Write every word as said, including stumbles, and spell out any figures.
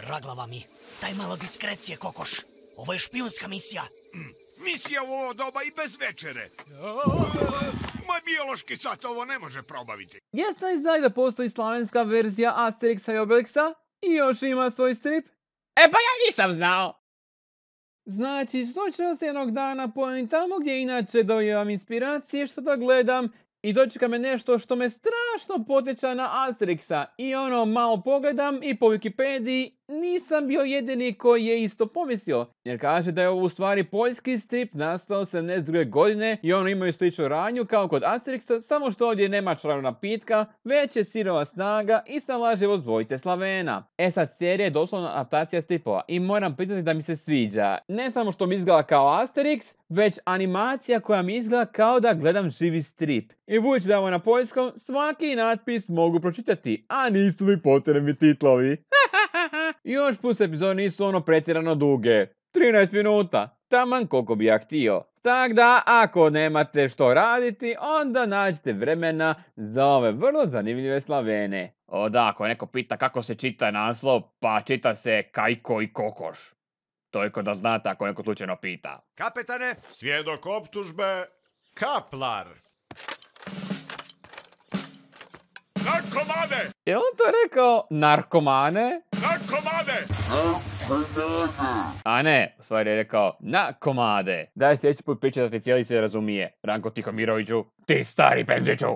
Vraglava mi, daj malo diskrecije, kokoš. Ovo je špijunska misija. Mm. Misija u ovo doba i bez večere. Moj biološki sat ovo ne može probaviti. Jeste li znali da postoji slavenska verzija Asterixa i Obelixa i još ima svoj strip? E pa ja nisam znao. Znači, slučajno se jednog dana pojavim tamo gdje inače dobivam inspiracije što da gledam i dočeka me nešto što me strašno podsjeća na Asterixa i ono malo pogledam i po Wikipediji nisam bio jedini koji je isto pomislio. Jer kaže da je ovo u stvari poljski strip nastao sedamdeset druge godine i ono imaju sličnu radnju kao kod Asterixa, samo što ovdje nema čarobna napitka, već je sirova snaga i snalažljivost dvojice Slavena. E sad, serija je doslovno adaptacija stripova i moram priznati da mi se sviđa. Ne samo što mi izgleda kao Asterix, već animacija koja mi izgleda kao da gledam živi strip. I budući da je ovo na poljskom, svaki natpis mogu pročitati, a nisu mi potrebni titlovi. Još plus epizode nisu ono pretjerano duge. trinaest minuta. Taman koliko bi ja htio. Tak da, ako nemate što raditi, onda nađite vremena za ove vrlo zanimljive Slavene. O da, ako neko pita kako se čita naslov, pa čita se Kajko i kokoš. Toliko da znate ako neko slučajno pita. Kapetane, svjedok optužbe, Kaplar. Narkomane! Je on to rekao narkomane? Narkomane! A ne, u stvari je rekao na komade. Daj sljedeći put pričati da ti cijeli se razumije. Ranko Tihomiroviću, ti stari penziću!